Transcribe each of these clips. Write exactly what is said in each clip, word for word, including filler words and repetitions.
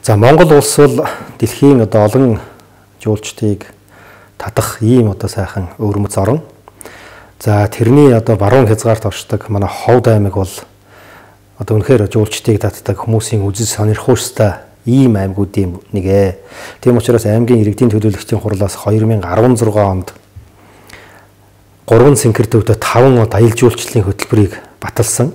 За Монгол улс бол дэлхийн одоо олон жуулчдыг татах ийм одоо сайхан өвөрмөц орн. За тэрний одоо баруун хязгаарт оршдог манай Ховд аймаг бол одоо үнэхээр жуулчдыг татдаг хүмүүсийн үзэл сонирхууштай ийм аймагуудын нэг ээ. Тийм учраас аймгийн иргэдийн төлөөлөгчдийн хурлаас хоёр мянга арван зургаан онд гурван цэнхэр төвдө таван аялал жуулчлалын хөтөлбөрийг баталсан.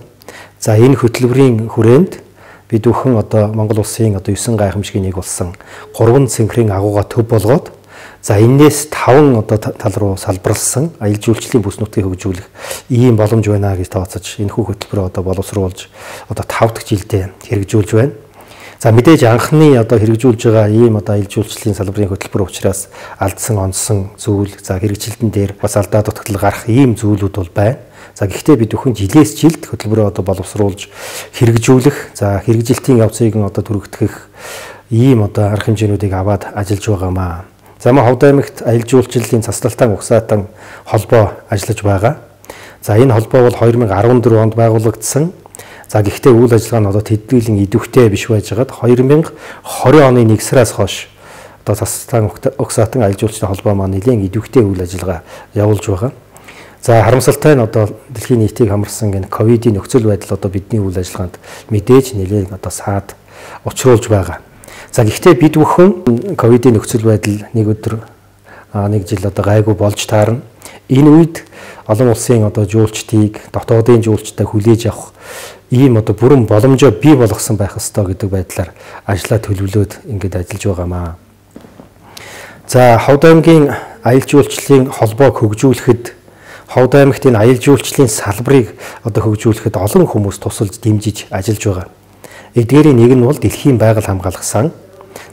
За энэ хөтөлбөрийн хүрээнд бид бүхэн одоо Монгол улсын одоо девять гайхамшигын нэг болсон гурван цэнхрийн агууга төв болгоод за энээс таван одоо тал руу салбарлсан аялал жуулчлалын бүс нутгийг хөгжүүлэх ийм боломж байна гэж тооцож энэхүү хөтөлбөрөө одоо боловсруулж одоо тав дахь жилдээ хэрэгжүүлж байна. За мэдээж анхны одоо хэрэгжүүлж байгаа ийм одоо аялал жуулчлалын салбарын хөтөлбөр учраас алдсан онсон зүйл за хэрэгжилтэн дээр бас алдаа дутагдал гарах ийм зүйлүүд бол байна. За гэхдээ бид бүхэн жилээс жилд хөтөлбөрөө одоо боловсруулж хэрэгжүүлэх за хэрэгжилтийн явцыг одоо түрэгдэх ийм одоо арга хэмжээнүүдийг аваад ажиллаж байгаамаа. За мөн Ховд аймагт аялал жуулчлалын цасдалтан угсаатан холбоо ажиллаж байгаа. За энэ холбоо бол хоёр мянга арван дөрөв онд байгуулагдсан. За гэхдээ үйл ажиллагаа нь одоо тэдгүүлэн идэвхтэй биш байжгаад хоёр мянга двадцать оны нэг сараас хойш одоо цасдалтан угсаатан аялал жуулчлалын холбоо маань нэлээд идэвхтэй үйл ажиллагаа явуулж байгаа. За харамсалтай нь одоо дэлхийн нийтийг хамарсан энэ ковидын нөхцөл байдал одоо бидний үйл ажиллагаанд мэдээж нэлээд одоо саад учруулж байгаа. За гэхдээ бид бүхэн ковидын нөхцөл байдал нэг өдөр нэг жил одоо гайгүй болж таарна. Энэ үед олон улсын одоо жуулчдыг дотоодын жуулчтай хүлээж авах ийм одоо бүрэн боломжоо бий болгосон байх ёстой гэдэг байдлаар ажлаа төлөвлөөд ингээд ажиллаж байгаамаа. За Ховд аймгийн аялал жуулчлалын холбоог хөгжүүлэхэд Ховд аймагт энэ аялал жуулчлалын салбарыг одоо хөгжүүлэхэд олон хүмүүс тусалж дэмжиж ажиллаж байгаа. Эдгээрийн нэг нь бол Дэлхийн байгаль хамгаалах сан.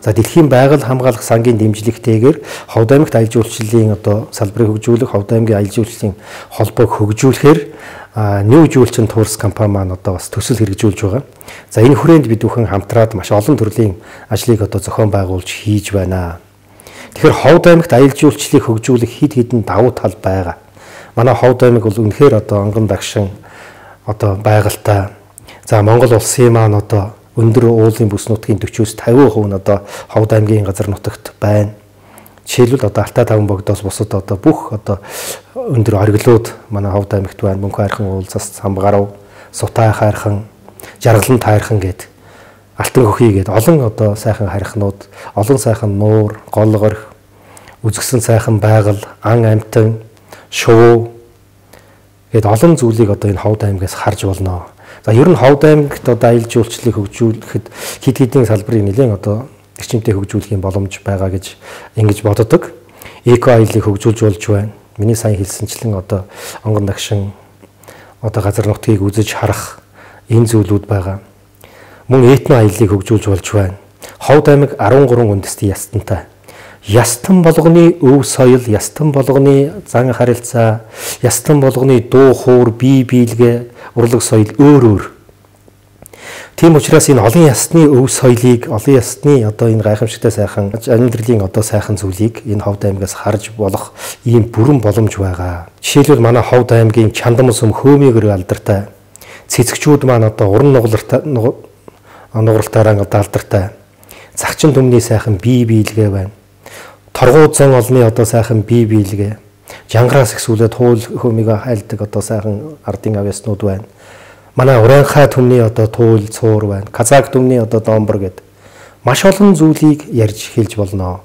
За Дэлхийн байгаль хамгаалах сангийн дэмжлэгтэйгээр Ховд аймагт аялал жуулчлалын одоо салбарыг хөгжүүлэх, Ховд аймгийн аялал жуулчлалын холбоог хөгжүүлэхээр New Жуулчин Tours компани маань одоо бас төсөл хэрэгжүүлж байгаа. За энэ хүрээнд бид бүхэн хамтраад маш олон төрлийн ажлыг одоо зохион байгуулж хийж байна. Тэгэхээр Ховд аймагт аялал жуулчлалыг хөгжүүлэх хэд хэдэн давуу тал байгаа. Манай Ховд аймаг бол үнэхээр одоо онгон дагшин одоо байгальтай. За Монгол улсын маань одоо өндөр уулын бүс нутгийн forty-с fifty percent нь одоо Ховд аймгийн газар нутагт байна. Жишээлбэл одоо Алтай таван богдоос бусад одоо бүх одоо өндөр ориглууд манай Ховд аймагт байна. Мөнхөн хайрхан уулзас, Самбгарав, Сутай хайрхан, Жаргалан тайрхан гэд Алтан хөхий гэд олон одоо сайхан хайрхнууд, олон сайхан нуур, гол горх, үзэгсэн сайхан байгаль, ан амтан, шувуу гэд олон зүйлийг одоо энэ Ховд аймгаас харж болно. За ер нь Ховд аймагт одоо аялал жуулчлалыг хөгжүүлэхэд хэд хэдийн салбарыг нэлээд одоо эрчимтэй хөгжүүлэх боломж байгаа гэж ингэж боддог. Эко аяллыг хөгжүүлж болж байна. Миний сайн хэлсэнчлэн одоо онгон дагшин одоо газар нутгийг үзэж харах энэ зүйлүүд байгаа. Мөн этно аяллыг хөгжүүлж болж байна. Ховд аймаг арван гурван үндэстэн ястантай. Ястан болгоны өв соёл, ястан болгоны зан харилцаа, ястан болгоны дуу хуур, бие биелгээ, урлаг соёл өөр өөр. Тийм учраас энэ олон ясны өв соёлыг, олон ясны одоо энэ гайхамшигтай сайхан амьдралын одоо сайхан зүйлийг энэ Ховд аймгаас харж болох ийм бүрэн боломж байгаа. Жишээлбэл манай Ховд аймгийн Чандам сум хөөмийгөр алдартай. Цэцэгчүүд маань одоо уран нугалартаа нугралтаараа одоо алдартай. Загчин түмний сайхан бие биелгээ байна. Торгуудсан олны одоо сайхан бие биелгээ. Жангараас ихсүүлээд хуул хөөмийгөө хайлдаг одоо сайхан ардын авьяаснууд байна. Манай Уранхай түмний одоо туул цуур байна. Казак түмний одоо домбор гэд маш олон зүйлийг ярьж хэлж болно.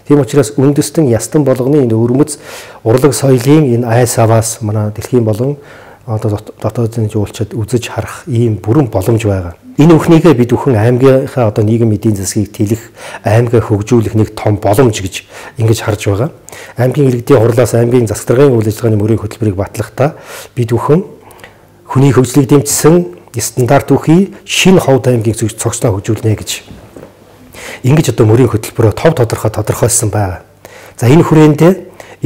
Тийм учраас үндэстэн ястан болгоны энэ өвөрмөц урлаг соёлын энэ айс аваас манай дэлхийн болон одоо дотоодын жуулчид үзэж харах ийм бүрэн боломж байгаа. Энэ бүхнийгээ бид бүхэн аймгийнхаа одоо нийгэм эдийн засгийг тэлэх, аймгаа хөгжүүлэх нэг том боломж гэж ингэж харж байгаа. Аймгийн иргэдийн хурлаас аймгийн засгийн үйл ажиллагааны мөрийн хөтөлбөрийг батлахдаа бид бүхэн хүний хөгжлийг дэмжсэн стандарт үхий шинэ Ховд аймгийн цогцлоо хөгжүүлнэ гэж ингэж одоо мөрийн хөтөлбөрөөр тов тодорхой тодорхойлсон байна. За энэ хүрээндээ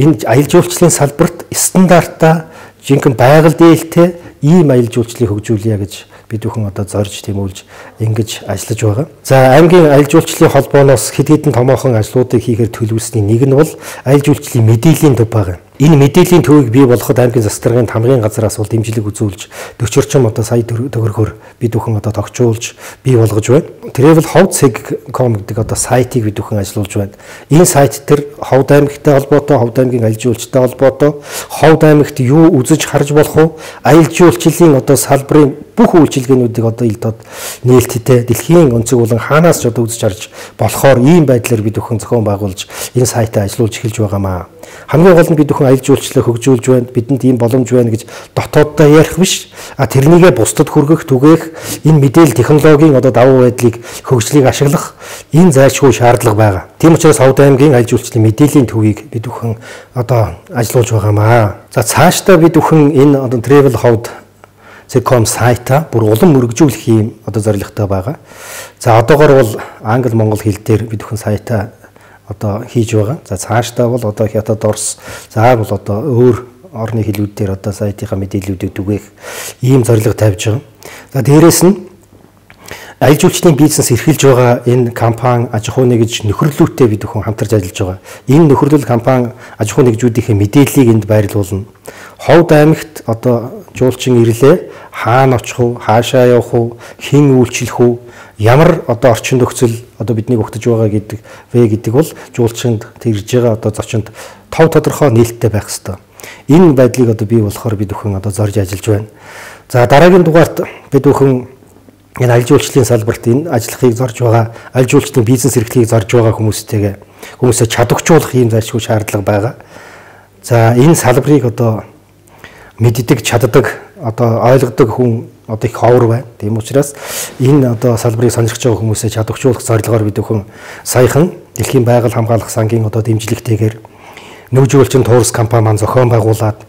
энэ аялал жуулчлалын салбарт стандартаа жинхэнэ байгаль дээлтэй ийм аялал жуулчлалыг хөгжүүлье гэж бид бүхэн одоо зорж тэмүүлж ингэж ажиллаж байгаа. За аймгийн аялал жуулчлалын холбооноос хэд хэдэн томоохон ажлуудыг хийхээр төлөвлөсний нэг нь бол аялал жуулчлалын мэдээллийн төв байгаа. Энэ мэдээллийн төвийг бий болгоход аймгийн засгийн хамгийн газраас бол дэмжлэг үзүүлж дөрвөн орчим одоо сая төгрөгөөр бид бүхэн одоо тогтжуулж бий болгож байна. Travel ховд цэг точка ком гэдэг одоо сайтыг бид бүхэн ажиллуулж байна. Энэ сайт дээр Ховд аймагтай холбоотой, Ховд аймгийн аялал жуулчтай холбоотой, Ховд аймагт юу үзэж харж болох вэ? Аялал жуулчлалын одоо салбарын бүх үйлчилгээнүүдийг одоо ил дод нээлттэй дэлхийн онцөг болон хаанаас ч одоо үзэж харж болохоор ийм байдлаар бид бүхэн зохион байгуулж энэ сайтаа ажиллуулж эхэлж байгаамаа. Хамгийн гол нь бид бүхэн аялал жуулчлалыг хөгжүүлж байна. Бидэнд ийм боломж байна гэж дотооддоо ярих биш. А тэрнийгээ бусдад хүргэх, түгээх энэ мэдээлэл технологийн одоо давуу байдлыг хөгжлийг ашиглах энэ зайлшгүй шаардлага байгаа. Тийм учраас Ховд аймгийн аялал жуулчлалын мэдээллийн төвийг бид бүхэн одоо ажиллуулж байгаамаа. За цаашдаа бид бүхэн энэ одоо Travel Ховд цэг точка ком сайтаа бүр улам мөргжүүлэх юм одоо зорилготой байгаа. За одоогоор бол англи монгол хэл дээр бид бүхэн сайтаа одоо хийж байгаа. За цаашдаа бол одоо хятад орс за бол одоо өөр орны хэлүүд дээр одоо сайтынхаа мэдээллүүдийг түгээх ийм зорилго тавьж байгаа. За дээрэс нь аялал жуулчлалын бизнес эрхэлж байгаа энэ компани аж ахуй нэгж нөхөрлөлтөд бид бүхэн хамтарч ажиллаж байгаа. Энэ нөхөрлөл компани аж ахуй нэгжүүдийн мэдээллийг энд байрлуулна. Ховд аймагт одоо жуулчин ирлээ хаана очих уу, хаашаа явах уу, хэн үйлчлэх үү, ямар одоо орчин нөхцөл одоо бидний өгтөж байгаа гэдэг вэ гэдэг бол жуулчинд тэрж байгаа одоо зочинд тов тодорхой нээлттэй байх ёстой. Энэ байдлыг одоо бий болохоор бид бүхэн одоо зорж ажиллаж байна. За дараагийн дугаарт бид бүхэн энэ аялал жуулчлалын салбарт энэ ажиллахыг зорж байгаа, аялал жуулчлалын бизнес эрхлэлийг зорж байгаа хүмүүстэйгээ хүмүүсээ чадваржуулах ийм зайлшгүй шаардлага байгаа. За энэ салбарыг одоо мэддэг, чаддаг, одоо ойлгодог хүн одоо их ховор байна. Тийм учраас энэ одоо салбарыг сонирхож байгаа хүмүүсээ чадваржуулах зорилгоор бид бүхэн саяхан Дэлхийн байгаль хамгаалах сангийн одоо дэмжлэгтэйгээр нүүжүүлчин туурс компани маань зохион байгуулад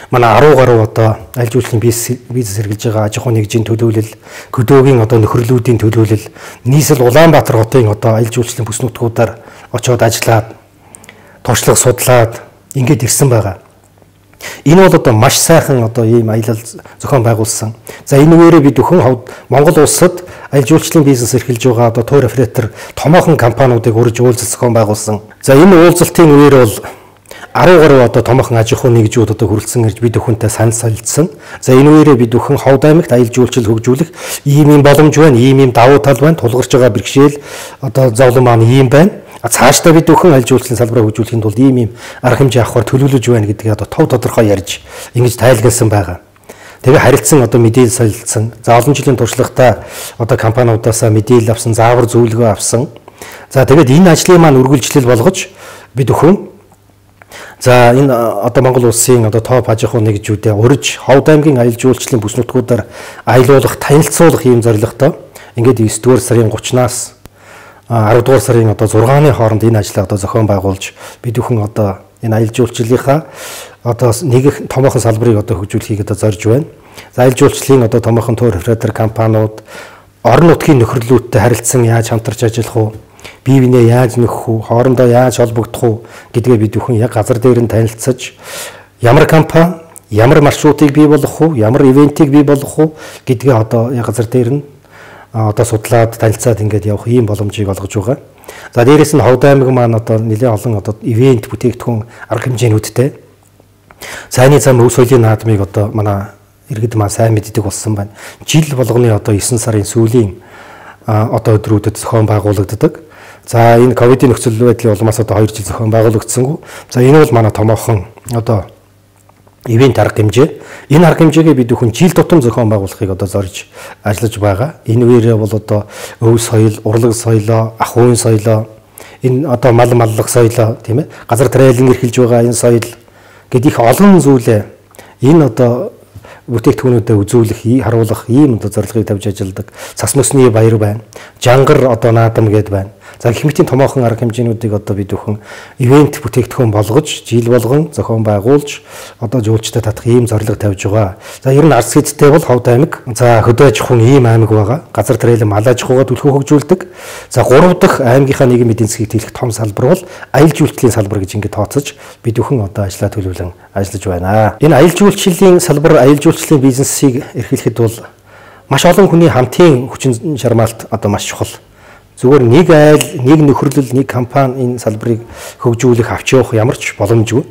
манай арван гаруй одоо аялал жуулчлалын бизнес эргэлж байгаа аж ахуй нэгжийн төлөөлөл, хөдөөгийн одоо нөхөрлөлүүдийн төлөөлөл, нийслэл Улаанбаатар хотын одоо аялал жуулчлалын бүс нутгуудаар очиод ажиллаад, туршлага судлаад ингэж ирсэн байгаа. Энэ бол одоо маш сайхан одоо ийм аялал зохион байгуулсан. За энэ үеэрээ бид бүхэн Ховд Монгол улсад аялал жуулчлалын бизнес эрхэлж байгаа одоо тур оператор томоохон компаниудыг урьж уулзалт зохион байгуулсан. За энэ уулзалтын үеэр бол арван гаруй одоо томоохон аж ахуй нэгжүүд одоо хүрэлцэн ирж бид бүхэнтэй санал солилцсон. За энэ үеэрээ бид бүхэн Ховд аймагт аялал жуулчлал хөгжүүлэх ийм юм боломж байна, ийм юм давуу тал байна, тулгарч байгаа бэрхшээл одоо зовлон маань ийм байна. Цаашдаа бид бүхэн аялал жуулчлалын салбараа хөгжүүлэхийн тулд ийм ийм арга хэмжээ авахар төлөвлөж байна гэдгийг одоо тов тодорхой ярьж ингэж тайлбарласан байгаа. Тэгээ харилцсан одоо мэдээлэл солилцсон. За олон жилийн туршлагатай одоо компаниудаасаа мэдээлэл авсан, заавар зөвлөгөө авсан. За тэгээд энэ ажлыг маань үргэлжлэл болгож бид бүхэн за энэ одоо Монгол улсын одоо топ аж ахуй нэгжүүдээ урьж Ховд аймгийн аялал жуулчлалын бүс нутгуудаар аялуулах, танилцуулах ийм зорилготой ингээд девять дугаар сарын гуравнаас арав дугаар сарын одоо зургааны хооронд энэ ажлаа одоо зохион байгуулж бид бүхэн одоо энэ аялал жуулчлалынхаа одоо нэг томоохон салбарыг одоо хөгжүүлэхийг одоо зорж байна. За аялал жуулчлалын одоо томоохон тур оператор компаниуд орон нутгийн нөхөрлөлтөд харилцсан яаж хамтарч ажиллах вэ? Бие биенээ яаж нөхөх вэ? Хоорондоо яаж холбогдох вэ гэдгээ бид бүхэн яг газар дээр нь танилцаж ямар компани, ямар маршрутыг бий болгох вэ? Ямар ивентийг бий болгох вэ гэдгээ одоо яг газар дээр нь одоо судлаад танилцаад ингээд явах ийм боломжийг олгож байгаа. За дээрээс нь Ховд аймаг маань одоо нэлээд олон одоо ивент бүтээгдэхүүн арга хэмжээнүүдтэй цайны зам өв соёлын наадмыг одоо манай иргэд маань сайн мэддэг болсон байна. Жил болгоны одоо девять сарын сүүлийн одоо өдрүүдэд зохион байгуулагддаг. За энэ ковидын нөхцөл байдлын улмаас одоо хоёр жил зохион байгуулагдсангүй. За энэ бол манай томоохон одоо ивент арга хэмжээ. Энэ арга хэмжээгээ бид бүхэн жил тутам зохион байгуулахыг одоо зорж ажиллаж байгаа. Энэ үеэрээ бол одоо өв соёл, урлаг соёлоо, ахуйн соёлоо, энэ одоо мал маллах соёлоо тийм ээ, газар тариалан эрхэлж байгаа энэ соёл гэдэг их олон зүйлээ энэ одоо бүтээгдэхүүнүүдэд үзүүлэх, харуулах ийм одоо зорилгыг тавьж ажилладаг. Цас мөсний баяр байна. Жангар одоо наадам гээд байна. За гэх мэтийн томоохон арга хэмжээнүүдийг одоо бид бүхэн ивент бүтээгдэхүүн болгож, жил болгон зохион байгуулж одоо жуулчтай татах ийм зорилго тавьж байгаа. За ер нь арц хэдтэй бол Ховд аймаг. За хөдөө аж ахуйн ийм аймаг байгаа. Газар тариалан мал аж ахуйгаа түлхүү хөгжүүлдэг. За гурав дахь аймгийнхаа нийгмийн эдийн засгийг тэлэх том салбар бол аялал жуулчлалын салбар гэж ингээд тооцож бид бүхэн одоо ажиллаа төлөвлөн ажиллаж байна. Энэ аялал жуулчлалын салбар, аялал жуулчлалын бизнесийг эрхлэхэд бол маш олон хүний хамтын хүчин чармаалт одоо маш чухал. Зүгээр нэг айл, нэг нөхөрлөл, нэг компани энэ салбарыг хөгжүүлэх авч явах ямар ч боломжгүй.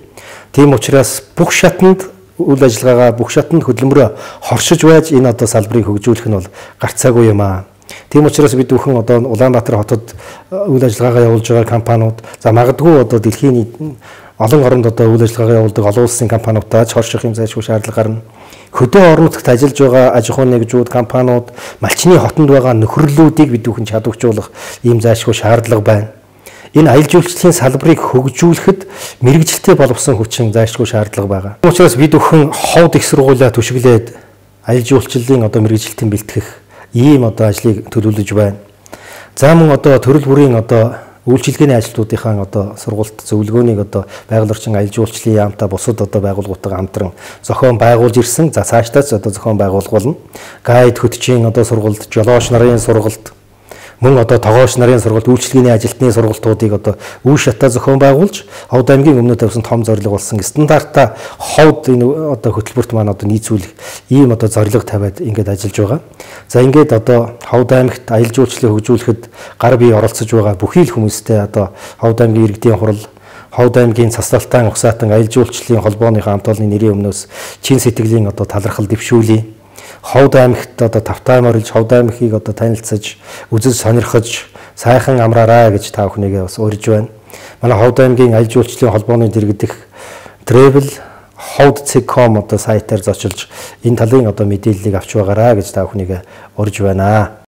Тийм учраас бүх шатанд үйл ажиллагаагаа бүх шатанд хөдөлмөрөө хоршиж байж энэ одоо салбарыг хөгжүүлэх нь бол гарцаагүй юм аа. Тийм учраас бид бүхэн одоо Улаанбаатар хотод үйл ажиллагаагаа явуулж байгаа компаниуд за магадгүй одоо дэлхийн олон оронд одоо үйл ажиллагаагаа явуулдаг олон улсын компаниудаа ч хорших юм зайлшгүй шаардлага гарна. Хөдөө орон нутагт ажиллаж байгаа аж ахуйн нэгжүүд, компаниуд, малчны хотод байгаа нөхөрлөлүүдийг бид бүхэн чадваржуулах ийм зайлшгүй шаардлага байна. Энэ аялал жуулчлалын салбарыг хөгжүүлэхэд мэрэгжилтэй боловсон хүчин зайлшгүй шаардлага байгаа. Учираас бид бүхэн ховд их сургуулиа түшиглээд аялал жуулчлалын одоо мэрэгжилтийн бэлтгэх ийм одоо ажлыг төлөвлөж байна. За мөн одоо төрөл бүрийн одоо үйлчилгээний ажилтнуудынхаа одоо сургалт зөвлөгөөнийг одоо байгаль орчин аялал жуулчлалын яамтай бусад одоо байгууллагуудаа хамтран зохион байгуулж ирсэн. За цаашдаач одоо зохион байгуулах болно. Гайд хөтчийн одоо сургалт, жолооч нарын сургалт, мөн одоо тогооч нарын сургалт, үйлчилгээний ажилтны сургалтуудыг одоо үе шатаа зохион байгуулж, Ховд аймгийн өмнө тавьсан том зорилго болсон стандартаа ховд энэ одоо хөтөлбөрт маань одоо нийцүүлэх ийм одоо зорилго тавиад ингээд ажиллаж байгаа. За ингээд одоо Ховд аймагт аялал жуулчлалыг хөгжүүлэхэд гар бие оролцож байгаа бүхий л хүмүүстэй одоо Ховд аймгийн иргэдийн хурал, Ховд аймгийн Цасралтан Ухсаатан аялал жуулчлалын холбооныхаа хамт олонны нэрийн өмнөөс чин сэтгэлийн одоо талархал дэвшүүлье. Ховд аймагт одоо тавтай морилж Ховд аймгийг одоо танилцаж, үзэж сонирхож, сайхан амраарай гэж та бүхнийгээ бас урьж байна. Манай Ховд аймгийн аялал жуулчлалын холбооны дэргэдэх Travel ховд цэг точка ком одоо сайтаар зочилж энэ талын одоо мэдээллийг авч байгаарай гэж та бүхнийгээ урьж байна.